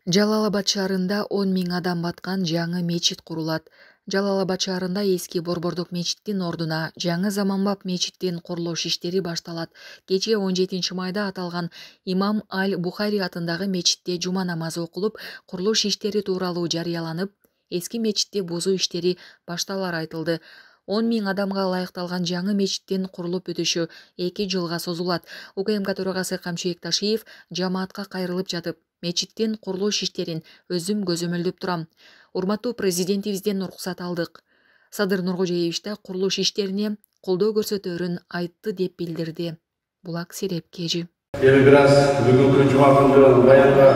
Жалал Абад шаарында 10 000 адам баткан жаңы мечит курулат. Жалал Абад шаарында эски Борбордук мечиттин ордуна жаңы заманбап мечиттин курулуш иштери башталат. Кечээ 17 майда аталган Имам Аль-Бухари атындагы мечитте жума намазы окулуп, курулуш иштери тууралуу жарыяланып, эски мечитти бузуу иштери башталары айтылды. 10 000 адамга ылайыкталган жаңы мечиттин курулуп бүтүшү 2 жылга созулат. УКМК төрагасы Камчыбек Ташиев жамаатка кайрылып жатып, мечиттин курулуш иштерин өзүм көзөмөлдөп турам. Урматтуу президентибизден уруксат алдык. Садыр Нуркожоевич да курулуш иштерине колдоо көрсөтөөрүн айтты деп билдирди. Булак Серепкежи. Эми бир аз бүгүнкү жума күндө баянга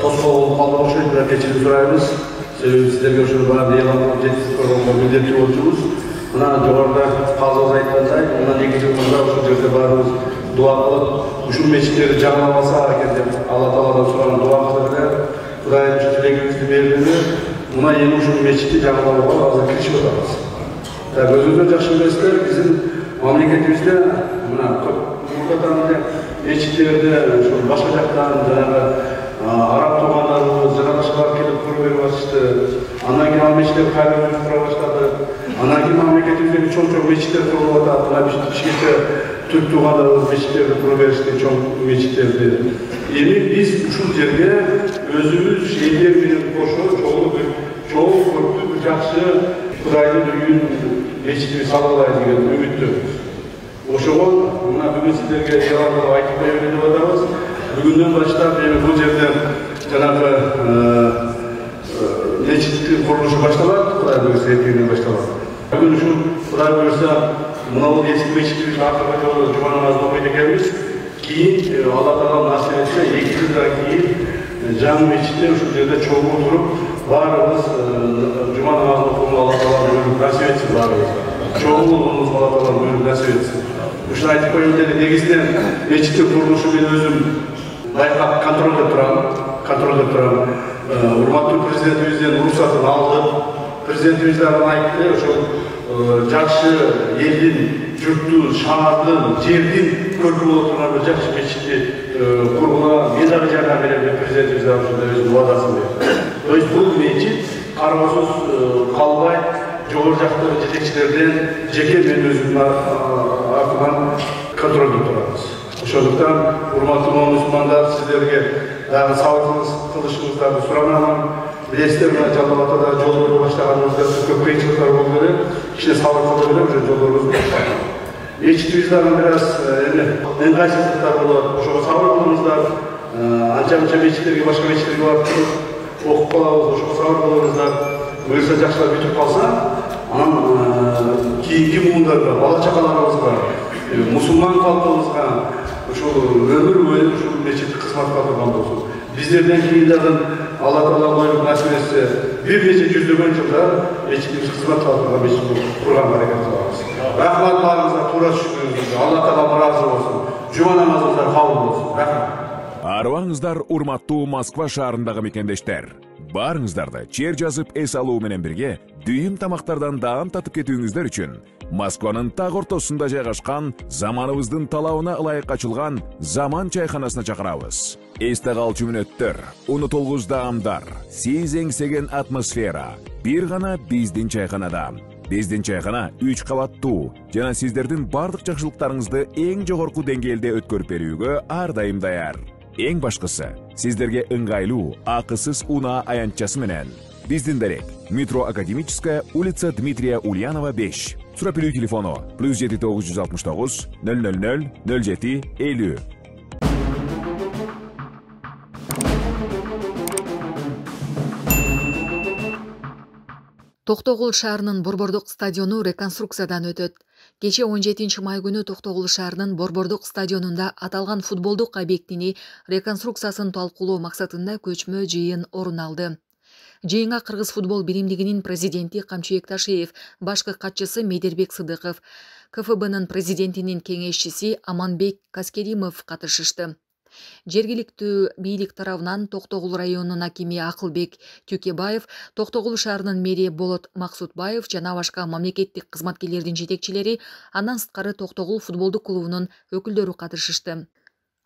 тоскоолдук калды окшойт, бирок кечирим сурайбыз. Себеби сиздерге ошол баягы элан кылып жеткизип койгонго милдеттүү болчубуз. Мына жогоруда калдыбыз айткандай, мына 2 жыл мурда ушул жерде баарыбыз дуа кылып, ушул мечиттерди жаңылап алсак экен деп Алла Тааладан сураган дуабыз эле Кудайым ушу тилегибизди бердиби. Мына эми ушул мечитти жаңылабга азыр киришип атабыз. Өзүңүздөр жакшы билесиздер, биздин мамлекетибизде мына мурдадан эле мечиттерди ушул башка жактан жанагы араб туугандарыбыз жана башкалар келип куруп берип атышты. Андан кийин ал мечиттер кайра кура баштады. Андан кийин мамлекетибизде чоң мечиттер курулуп атат. Мына Бишкекте түрк туугандарыбыз мечиттерди куруп беришти, чоң мечиттерди. Эми биз ушул жерге өзүбүз элдер менен кошо чоң көптүү бир жакшы Кудайдын үйүн мечитти сала алайлы деген үмүттөбүз. Ошого мына бүгүн сиздерге элан кылып айтып берели деп атабыз. Бүгүндөн баштап эми бул жерден жанагы мечиттин курулушу башталат, Кудай буюрса эртеңден башталат. Бүгүн ушул Кудай буюрса мына бул эски мечиттибиз акыркы жолу жума намазын окуйт экенбиз. Кийин Алла Таала насип этсе 2 жылдан кийин жаңы мечитте ушул жерде чогуу туруп баарыбыз жума намазын окууну Алла Таала буйруп насип этсин баарыбызга. Чогуу болуубузга Алла Таала буйруп насип этсин. Ушуну айтып коеюн деле, негизинен мечиттин курулушу мен өзүм байкап контролдоп турам. Урматтуу президентибизден уруксатын алдым. Президентибиз дагы айтты, ошол жакшы элдин, журттун, шаардын, жердин көркү боло турган бир жакшы мечитти курууга мен дагы жардам берем деп президентибиз дагы ушундай өзүнүн убадасын берди. То есть бул мечит кароосуз калбай жогору жактагы жетекчилерден жеке мен өзүмдүн артынан контролдоп турабыз. Ошондуктан урматтуу мусулмандар, сиздерге дагы сабыр кылышыңыздарды суранамын. Билесиздер, мына Жалал Абадда жолдорду баштаганыбызда көп кыйынчылыктар болду эле. Кичине сабыр кылып эле ошо жолдорубузду баштадык. Мечитибиз дагы бир аз ыңгайсыздыктар болот. Ошого сабыр кылыңыздар. Анча-мынча мечиттерге, башка мечиттерге барып туруп окуп калабыз. Ошого сабыр кылыңыздар. Буюрса жакшылап бүтүп калса, анан кийинки муундарга, бала-чакаларыбызга, мусулман калкыбызга ушул өмүр бою ушул мечит кызмат кыла турган болсун. Биздерден кийин дагы Алла Таала буйруп насип этсе, бир нече жүздөгөн жылдар мечитибиз кызмат кыла турган мечит курганга аракет кылабыз. Рахмат баарыңызга, туура түшүнүңүздөр. Алла Таала ыраазы болсун. Жума намазыңыздар кабыл болсун. Рахмат. Арыбаңыздар, урматтуу Москва шаарындагы мекендештер. Баарыңыздарды чер жазып эс алуу менен бирге дүйүм тамактардан даам татып кетүүңүздөр үчүн Москванын так ортосунда жайгашкан, заманыбыздын талабына ылайык ачылган Заман чайканасына чакырабыз. Эсте калчу мүнөттөр, унутулгуч даамдар, сиз эңсеген атмосфера бир гана биздин чайканада. Биздин чайкана 3 кабаттуу жана сиздердин бардык жакшылыктарыңызды эң жогорку деңгээлде өткөрүп берүүгө ар дайым даяр. Эң башкысы, сиздерге ыңгайлуу, акысыз унаа аянтчасы менен. Биздин дарек: Метро Академическая, улица Дмитрия Ульянова 5. Сурап билүү телефону +7 969 000 07 50. Токтогул шаарынын Борбордук стадиону реконструкциядан өтөт. Кечээ 17 май күнү Токтогул шаарынын Борбордук стадионунда аталган футболдук объектини реконструкциясын талкуулоо максатында көчмө жыйын орун алды. Жыйынга Кыргыз футбол биримдигинин президенти Камчыбек Ташиев, башкы катчысы Медербек Сыдыков, КФБнын президентинин кеңешчиси Аманбек Каскеримов катышышты. Жергиликтүү бийлик тарабынан Токтогул районунун акими Акылбек Тюкебаев, Токтогул шаарынын мэри Болот Максутбаев жана башка мамлекеттик кызматкерлердин жетекчилери, андан сырткары Токтогул футболдук клубунун өкүлдөрү катышышты.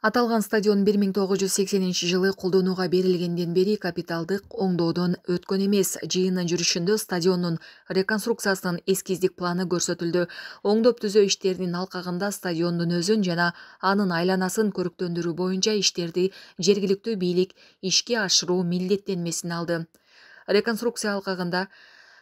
Аталган стадион 1980-жылы колдонууга берилгенден бери капиталдык оңдоодон өткөн эмес. Жыйындын жүрүшүндө стадиондун реконструкциясынын эскиздик планы көрсөтүлдү. Оңдоп түзөө иштеринин алкагында стадиондун өзүн жана анын айланасын көрктөндүрүү боюнча иштерди жергиликтүү бийлик ишке ашыруу милдеттенмесин алды. Реконструкция алкагында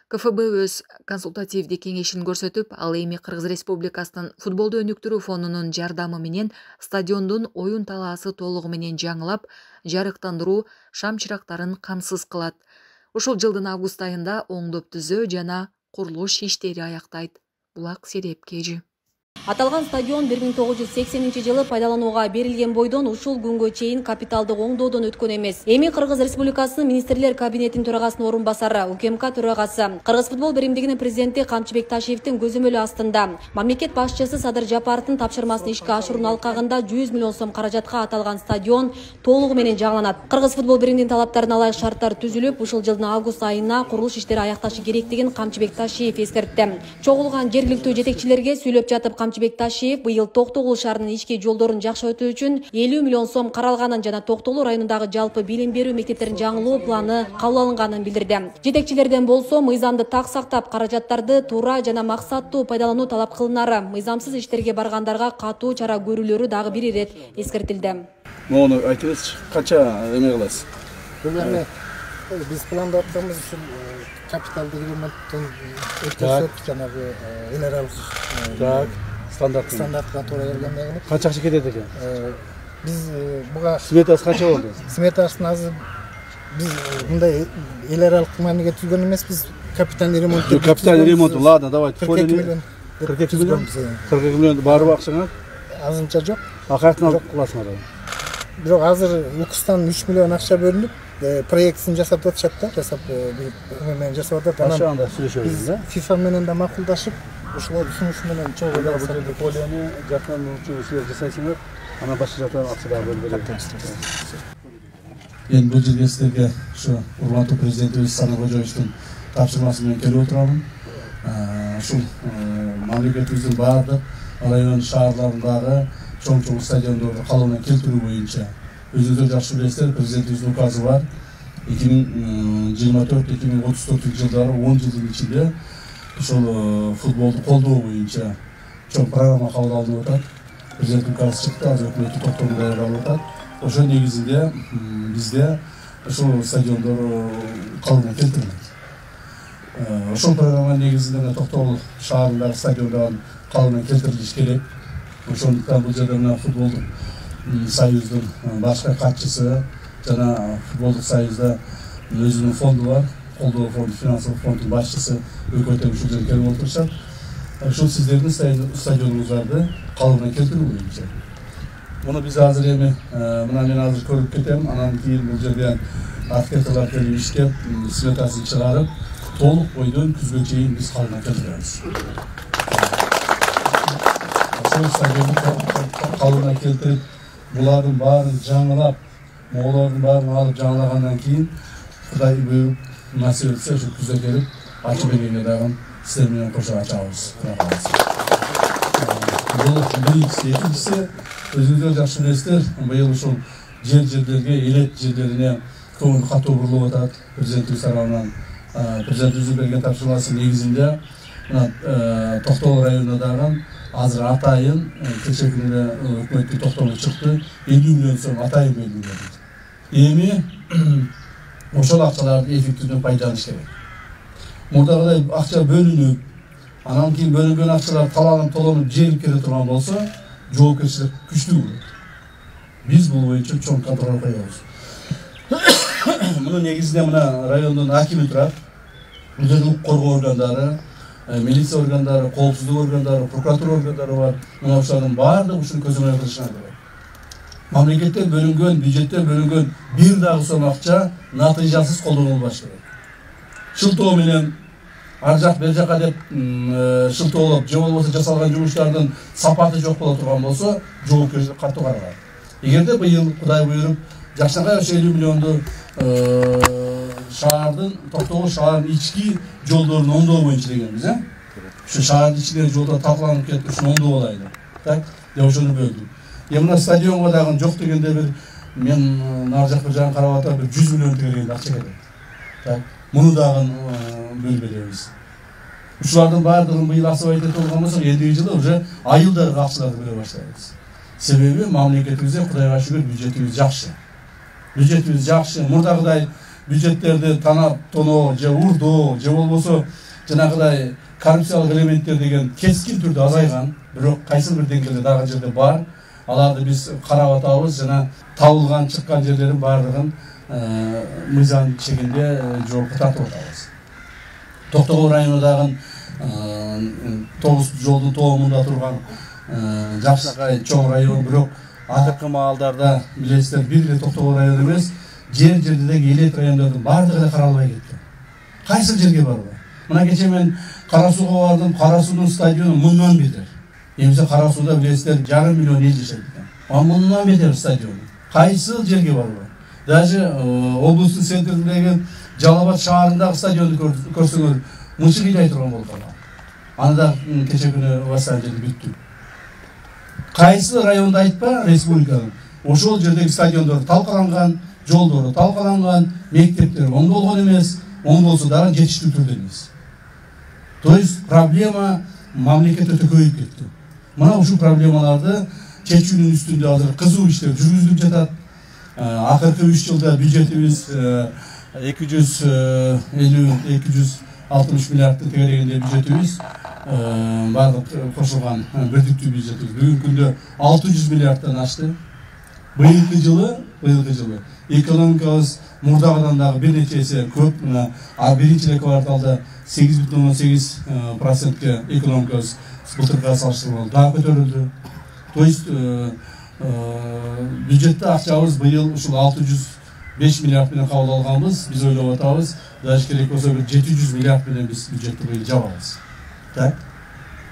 КФБ өз консультативдик кеңешин көрсөтүп, ал эми Кыргыз Республикасынын футболду өнүктүрүү фондунун жардамы менен стадиондун оюн талаасы толугу менен жаңылап, жарыктандыруу шам чырактарын камсыз кылат. Ушул жылдын август айында оңдоп түзөө жана курулуш иштери аяктайт. Булак Серепкежи. Аталган стадион 1980-жылы пайдаланууга берилген бойдон ушул күнгө чейин капиталдык оңдоодон өткөн эмес. Эми Кыргыз Республикасынын министрлер кабинетинин төрагасынын орун басары, УКМК төрагасы, Кыргыз футбол биримдигинин президенти Камчыбек Ташиевдин көзөмөлү астында мамлекет башчысы Садыр Жапаровдун тапшырмасын ишке ашыруунун алкагында 100 миллион сом каражатка аталган стадион толугу менен жаңыланат. Кыргыз футбол биримдигинин талаптарына ылайык шарттар түзүлүп, ушул жылдын август айына курулуш иштери аякташы керектигин Камчыбек Ташиев эскертти. Чогулган жергиликтүү жетекчилерге сүйлөп жатып Камчыбек Ташиев быйыл Токтогул шаарынын ички жолдорун жакшыртуу үчүн 50 миллион сом каралганын жана Токтогул районундагы жалпы билим берүү мектептерин жаңылоо планы кабыл алынганын билдирди. Жетекчилерден болсо мыйзамды так сактап, каражаттарды туура жана максаттуу пайдалануу талап кылынары, мыйзамсыз иштерге баргандарга катуу чара көрүлөрү дагы бир ирет эскертилди. Мону айтыңыз, канча эме кыласыз? Бул эми биз пландап атканбыз ушул капиталдык ремонттон өткөрсөк жанагы эл аралык стандартка туура келгенден Канча акча кетет экен? Биз буга Сметасы канча болду? Сметасын азыр биз мындай эл аралык мааниге түзгөн эмеспиз. Капитальный ремонт. Капитальный ремонт, ладно, давайте. 42 миллион. 42 миллион? 42 миллион барбы акчаңа? Азырынча жок. Акыртын алып кыласыңар. Бирок азыр УКСтан 3 миллион акча бөлүнүп, проектин жасап атышат да, жасап менен жасап атат. Анан сүйлөшөбүз да. FIFA менен да макулдашып, ушулар сунушу менен чогуу бул жерде полияны жактан силер жасайсыңар, анан башка жактан акча дагы бөлүп беребиз. Эми бул жерге силерге ушу урматтуу президентибиз Садыр Кожоевичтин тапшырмасы менен келип отурам. Ушул мамлекетибиздин баардык район шаарларындагы чоң стадиондорду калыбына келтирүү боюнча өзүңүздөр жакшы билесиздер, президентибиздин указы бар. 2024-2034 жылдары 10 жылдын ичинде ушул футболду колдоо боюнча чоң программа кабыл алынып атат. Президент указы чыкты, азыр өкмөттүн токтомун даярдап атат. Ошол негизинде бизде ушул стадиондор калыбына келтирилет. Ошол программа негизинде Токтогул шаарындагы стадиондордун калыбына келтирилиш керек. Ошондуктан бул жерде мына футболдук союздун башкы катчысы жана футболдук союзда өзүнүн фонду бар, колдоо фонду, финансылык фонддун башчысы өкмөттөн ушул жерге келип отурушат. Ушул сиздердин стадионуңуздарды калыбына келтирүү боюнча. Муну биз азыр эми мына мен азыр көрүп кетем, анан кийин бул жерге архитекторлор келип иштеп, сметасын чыгарып, толук бойдон күзгө чейин биз калыбына келтиребиз. Ошол стадионду калыбына келтирип, булардын баарын жаңылап, моголордун баарын алып жаңылагандан кийин Кудай буйруп насип этсе ушу күзгө келип ачып бергенге дагы силер менен кошо ачабыз. Бул биринчиси, экинчиси өзүңүздөр жакшы билесиздер, быйыл ушул жерлерге, элет жерлерине көңүл катуу бурулуп атат. Президентибиз тарабынан президентибиздин берген тапшырмасы негизинде Токтогул районунда дагы азыр атайын кечээ күнү өкмөттүн токтому чыкты, 50 миллион сом атайын бөлүнгөн. Эми ошол акчаларды эффективдүү пайдаланыш керек. Мурдагыдай акча бөлүнүп, анан кийин бөлүнгөн акчалар таланып толонуп желип келе турган болсо, жоопкерчилик күчтүү болот. Биз бул боюнча чоң контроль коебуз. Муну негизинде мына райондун акими турат, укук коргоо органдары, милиция органдары, коопсуздук органдары, прокуратура органдары бар. Мына ошолордун баардыгы ушуну көзөмөл кылышына керек. Мамлекеттен бөлүнгөн, бюджеттен бөлүнгөн бир дагы сом акча натыйжасыз колдонулбаш керек. Шылтоо менен ар жак бер жака деп шылтоолоп, же болбосо жасалган жумуштардын сапаты жок боло турган болсо, жоопкерчилик катуу каралат. Эгерде быйыл Кудай буйруп жакшыга 50 миллионду шаардын, Токтогул шаарынын ички жолдорун оңдоо боюнча дегенбиз, Ушу шаардын ичиндеги жолдор талкаланып кетип, ушуну оңдоп алайлы. Так, деп ошону бөлдүк. Мына стадионго дагы жок дегенде бир мен нар жакка жагын карап атам, бир 100 миллион тегерген акча кетет. Так, муну дагы бөлбөйбүз. Ушулардын баардыгын быйыл асып айтып болгон болсок, элдиги жылы уже айылдарга акчаларды бөлө баштайбыз. Себеби мамлекетибизде Кудайга шүгүр бюджетибиз жакшы. Бюджетибиз жакшы. Мурдагыдай бюджеттерди танап тоноо же урдоо же болбосо жанагыдай коррупциялык элементтер деген кескин түрдө азайган, бирок кайсыл бир деңгээлде дагы жерде бар. Аларды биз карап атабыз, жана табылган чыккан жерлердин баардыгын мыйзам чегинде жоопко тартып атабыз. Токтогул районундагы 9 жолдун тоомунда турган Жакшакай чоң район, бирок акыркы маалдарда билесиздер, бир эле Токтогул району эмес, жер-жердеги элет райондордун баардыгы эле каралбай кеткен. Кайсы жерге барбай? Мына кече мен Кара Сууга бардым, Кара Суунун стадиону мындан бетер. Эмсе Кара Сууда билесиздер 500 миллион эл жашайт экен. Мындан бетер стадион. Кайсы жерге барбай? Даже облустун центриндеги Жалал Абад шаарындагы стадионду көрсөңөр мынча кыйдай турган болуп калган. Аны да кече күнү восстановить бүттү. Кайсы районда айтпа, республиканын ошол жердеги стадиондор талкаланган, жолдору талкаланган, мектептер оң болгон эмес, оң болсо дагы жетиштүү түрдө эмес. То есть проблема мамлекетте көбөйүп кетти. Мына ушул проблемаларды чечүүнүн үстүндө азыр кызуу иштер жүргүзүлүп жатат. Акыркы 3 жылда бюджетибиз 250-260 миллиардты тегерегенде бюджетибиз бардык кошулган бирдиктүү бюджетибиз бүгүнкү күндө 600 миллиардтан ашты. Быйылкы жылы экономикабыз мурдагыдан дагы бир нече эсе көп. Биринчи кварталда 8,8% экономикабыз былтыркыга салыштырмалуу дагы көтөрүлдү. То есть бюджетте акчабыз быйыл ушул 605 миллиард менен кабыл алганбыз. Биз ойлоп атабыз, даже керек болсо бир 700 миллиард менен биз бюджетти быйыл жабабыз. Так.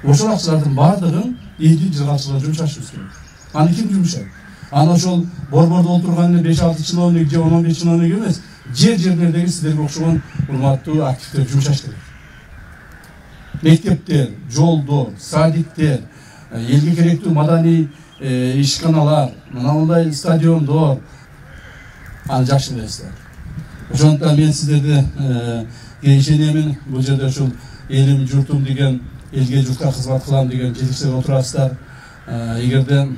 Ошол акчалардын баардыгын элдин жылгачылыгына жумшашыбыз керек. Аны ким жумшайт? Аны ошол борбордо отурган 5-6 чиновник же 15 чиновник эмес, жер-жерлердеги сиздерге окшогон урматтуу активдер жумшаш керек. Мектептер, жолдор, садиктер, элге керектүү маданий ишканалар, мындай стадиондор, аны жакшы билесиздер. Ошондуктан мен сиздерди ишенемин, бул жерде ушул элим журтум деген, элге журтка кызмат кылам деген жетекчилер отурасыздар. Эгерде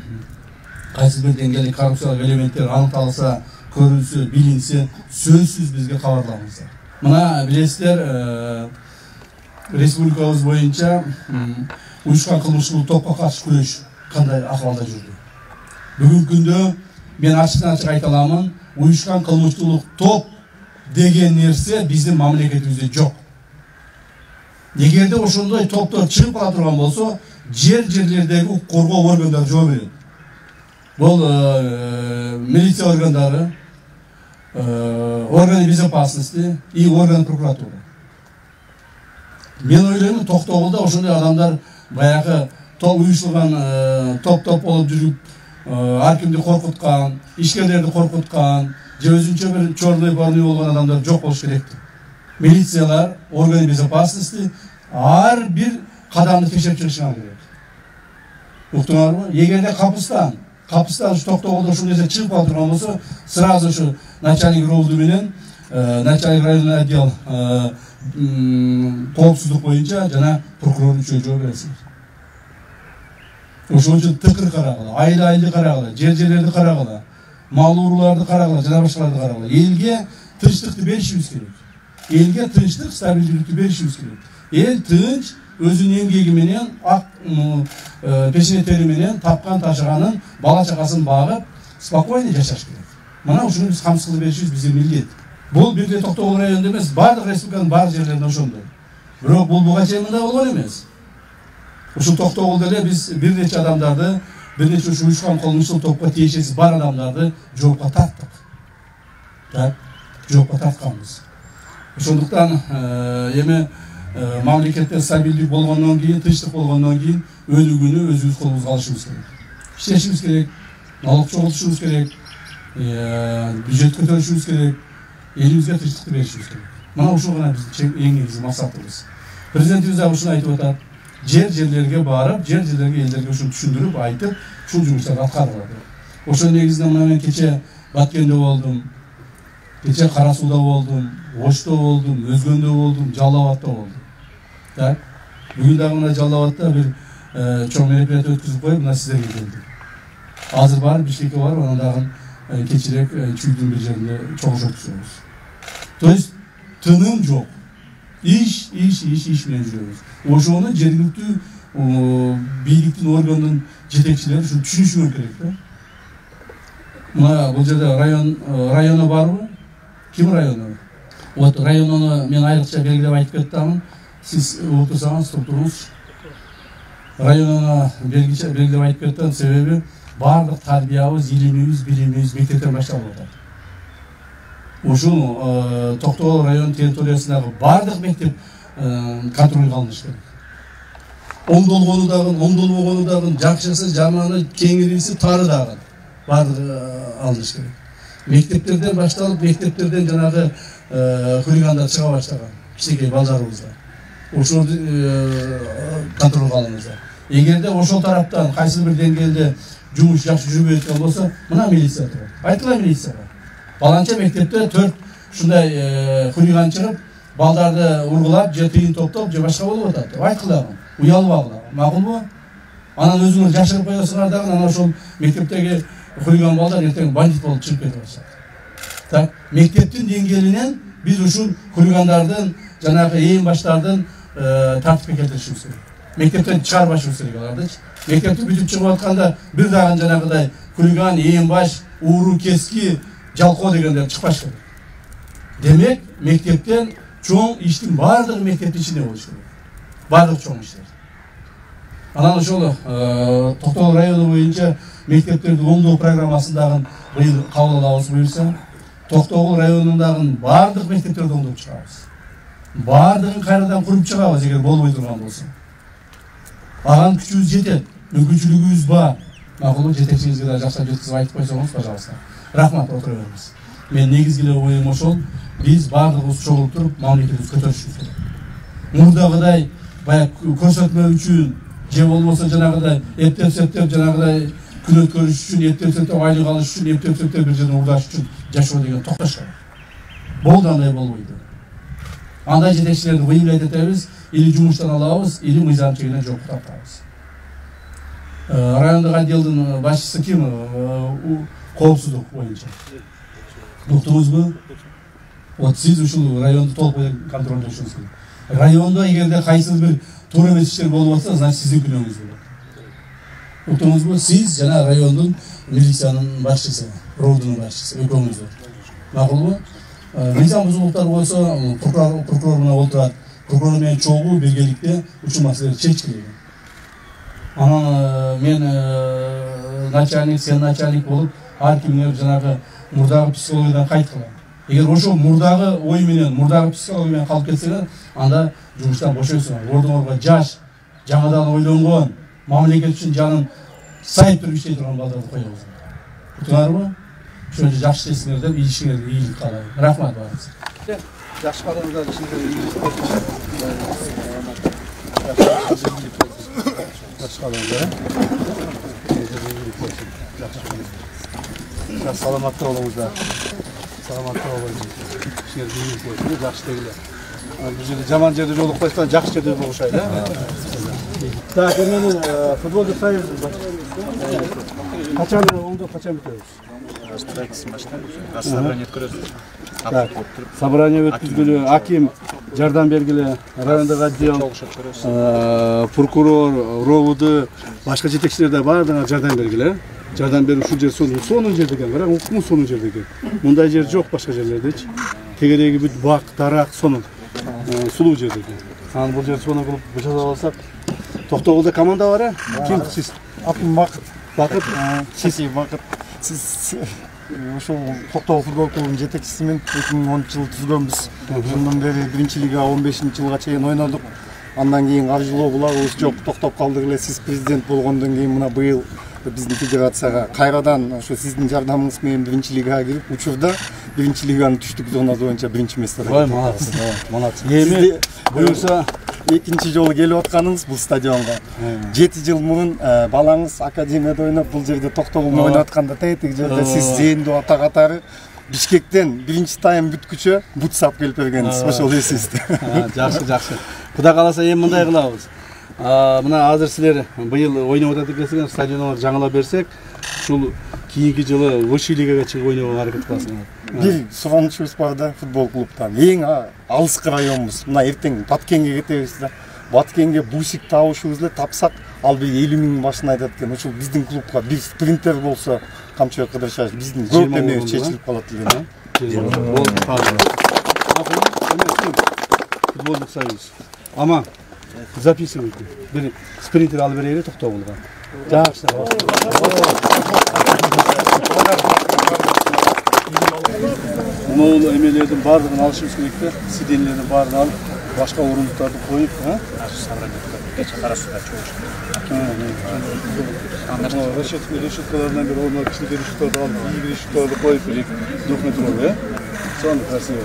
кайсы бир деңгээлде коррупциялык элементтер аныкталса, көрүлсө, билинсе, сөзсүз бизге кабарлаңыздар. Мына билесиздер, республикабыз боюнча уюшкан кылмыштуулук топко каршы күрөш кандай акыбалда жүрдү. Бүгүнкү күндө мен ачык айта аламын, уюшкан кылмыштуулук топ деген нерсе биздин мамлекетибизде жок. Эгерде ошондой топтор чыгып кала турган болсо, жер-жерлердеги коргоо органдары жооп берет. Бул милиция органдары, органы безопасности и органы прокуратуры. Мен ойлойм, Токтогулда ошондой адамдар баягы уюшулган топ-топ болуп жүрүп, ар кимди коркуткан, ишкерлерди коркуткан, же өзүнчө бир чорный барный болгон адамдар жок болуш керек. Милициялар, органы безопасности ар бир кадамды текшерип чыгышыңар керек. Уктуңарбы? Эгерде капыстан Токтогулда ушул нерсе чыгып кала турган болсо, сразу ушу начальник РОВД менен начальник районный отдел коопсуздук боюнча жана прокурор үчөө жооп бересиңер. Ошон үчүн тыкыр карагыла, айды карагыла, жер-жерлерди карагыла, мал урууларды карагыла, жана башкаларды карагыла. Элге тынчтыкты беришибиз керек. Элге тынчтык, стабилдүүлүктү беришибиз керек. Эл тынч өзүнүн эмгеги менен, пешине тери менен тапкан ташыганын, бала чакасын багып, спокойно жашаш керек. Мына ушуну биз камсыз кылып беришибиз биздин милдет. Бул бирде Токтогул районунда эмес, бардык республиканын баардык жерлеринде ошондой. Бирок бул буга чейин мындай болгон эмес. Ушул Токтогулда эле биз бир нече адамдарды, бир нече уюшкан кылмыштуу топко тиешеси бар адамдарды жоопко тарттык. Так, жоопко тартканбыз. Ошондуктан эми мамлекетте стабилдүүлүк болгондон кийин, тынчтык болгондон кийин өнүгүүнү өзүбүз колубузга алышыбыз керек. Иштешибиз керек, налог чогултушубуз керек, бюджет көтөрүшүбүз керек, элибизге тынчтыкты беришибиз керек. Мына ушул гана биздин эң негизги максатыбыз. Президентибиз дагы ушуну айтып атат. жерлерге барып, жерлерге элдерге ушуну түшүндүрүп, айтып, ушул жумуштарды аткарылат. Ошол негизинде мына мен кече Баткенде болдум, кече Кара Сууда болдум, Ошто болдум, Өзгөндө болдум, Жалал Абадта болдум. Так. Бүгүн дагы мына Жалал Абадта бир чоң мероприятие өткүзүп коюп, мына сиздерге келдик. Азыр барып Бишкекке барып, анан дагы кечирээк Чүйдүн бир жеринде чогулуш өткүзөбүз. То есть тыным жок. Иш менен жүрөбүз. Ошону жергиликтүү бийликтин органдын жетекчилери ушуну түшүнүшү керек да. Мына бул жерде районо барбы? Ким районо? Вот районону мен айрыкча белгилеп айтып кеттимин. Сиз отурсаңыз туруңуз. Районону белгилеп айтып кеттим, себеби бардык тарбиябыз, илимибиз, билимибиз мектептен башталып атат. Ушул Токтогул район территориясындагы бардык мектеп контролго алыныш керек. Оңдолгону дагы, жакшысы, жаманы, кеңириси, тары дагы бардыгы алыныш керек. Мектептерден башталып, мектептерден жанагы хулигандар чыга баштаган. Кичинекей балдарыбыздар. Ошол контролго алыңыздар. Эгерде ошол тараптан кайсы бир деңгээлде жумуш жакшы жүрбөй аткан болсо, мына милиция турат. Айтыла милицияга. Баланча мектепте 4 ушундай хулиган чыгып, балдарды ургулап, же тыйын топтоп, же башка болуп атат деп айткылагын. Уялбагыла. Макулбу? Анан өзүңөр жашырып коесуңар дагы, анан ошол мектептеги хулиган балдар эртең бандит болуп чыгып кетип атышат. Так, мектептин деңгээлинен биз ушул хулигандардын, жанагы ээн баштардын тартипке келтиришибиз керек. Мектептен чыгарбашыбыз керек алардычы. Мектепти бүтүп чыгып атканда бир дагы жанагыдай хулиган, ээн баш, ууру, кески, жалкоо дегендер чыкпаш керек. Демек, мектептен чоң иштин бардыгы мектептин ичинде болуш керек. Бардык чоң иштер. Анан ошол Токтогул району боюнча мектептерди оңдоо программасындагы быйыл кабыл алабыз буюрса, Токтогул районундагы бардык мектептерди оңдоп чыгабыз. Бардыгын кайрадан куруп чыгабыз эгер болбой турган болсо. Аган күчүбүз жетет, мүмкүнчүлүгүбүз бар. Макулбу, жетекчиңизге да жакшылап жеткизип айтып койсоңуз, пожалуйста. Рахмат, отура бериңиз. Мен негизги эле оюм ошол, биз бардыгыбыз чогулуп туруп, мамлекетибизди көтөрүшүбүз керек. Мурдагыдай баягы көрсөтмө үчүн, же болбосо жанагыдай эптеп жанагыдай күн өткөрүш үчүн, эптеп айлык алыш үчүн, эптеп бир жерден урдаш үчүн жашоо деген токтош керек. Болду, андай болбойт. Андай жетекчилерди выявлять этебиз, или жумуштан алабыз, или мыйзамчылыгынан жок тартабыз. Райондук отделдин башчысы ким? Коопсуздук боюнча. Уктуңузбу? Вот сиз ушул районду толук контролдошуңуз керек. Райондо эгерде кайсы бир туура эмес иштер болуп атса, значит сиздин күнөөңүз болот. Уктуңузбу? Сиз жана райондун милициянын башчысы, роудунун башчысы, экөөңүз. Макулбу? Мыйзам бузуулуктар болсо, прокурор менен отурат. Прокурор менен чогуу биргеликте ушул маселени чечкилеген. Анан мен начальник, сен начальник болуп, ар кимдер жанагы мурдагы психологиядан кайткыла. Эгер ошол мурдагы ой менен, мурдагы психология менен калып кетсеңер, анда жумуштан бошойсуңар. Ордуңарга жаш, жаңадан ойлонгон, мамлекет үчүн жанын сайып туруп иштей турган балдарды коебуз. Утуңарбы? Ошондо жакшы иштесиңер деп, ишиңерге ийгилик каалайм. Рахмат барыңызга. Жакшы кадамдар ичинде жакшы кадамдар. Саламатта болуңуздар. Саламатта болуңуздар. Ишиңерге ийгилик болсун, жакшы дегиле. Бул жерде жаман жерде жолукпайсыздар, жакшы жерде болушай да. Так, эми футболду союз качан оңдоп качан бүтөбүз? Собрание өткөрөбүз. Собрание өткүзгүлө, аким жардам бергиле, райондук отдел, прокурор, РОВД, башка жетекчилер да баардыгына жардам бергиле. Жардам берип ушул жер сонун жер деген, бирок укму сонун жер деген. Мындай жер жок башка жерлердечи. Тегереги бүт бак, дарак, сонун. Сулуу жер деген. Анан бул жер сонун кылып жасап алсак, Токтогулда команда бар, ким сиз? Аким Бакыт, сиз Бакыт. Сиз ошол Токтогул футбол клубунун жетекчисимин. 2010-жылы түзгөнбүз. Ошондон бери 1-лига 15-жылга чейин ойнодук. Андан кийин каржылоо булагыбыз жок, токтоп калдык эле. Сиз президент болгондон кийин мына быйыл биздин федерацияга кайрадан ошо сиздин жардамыңыз менен 1-лигага кирип, учурда 1-лиганы түштүк зонасы боюнча 1-место. Ой, молодец. Молодец. Эми буюрса экинчи жолу келип атканыңыз бул стадионго. 7 жыл мурун балаңыз академияда ойноп, бул жерде Токтогулда ойноп атканда тетиги жерде сиз зээндүү ата катары Бишкектен биринчи тайм бүткүчө бут сап келип бергенсиз. Ошол эсибизде. Жакшы. Кудай кааласа эми мындай кылабыз. Мына азыр силер быйыл ойноп атат экенсиңер, стадионду жаңылап берсек, ушул кийинки жылы высший лигаға чыгып ойногонго аракет кыласыңар. Бир суранычыбыз бар да футбол клубтан. Эң алыскы районубуз. Мына эртең Баткенге кетебиз да. Баткенге бусик табышыбыз эле, тапсак, ал бир 50 000 башын айтат экен. Ошол биздин клубка бир спринтер болсо, Камчыбек Кыдыршев биздин көп эме чечилип калат деген. Футболдук союз. Ама записывайте. Бир спринтер алып берели Токтогулга. Жакшы. Могул эмелердин баардыгын алышыбыз керек да. Сиденлердин баарын алып, башка орундуктарды коюп, решеткалардан бир орнуна кичинекей решеткаларды алып, ийгиле решеткаларды коюп, 2 метрлүү, сонун красиво.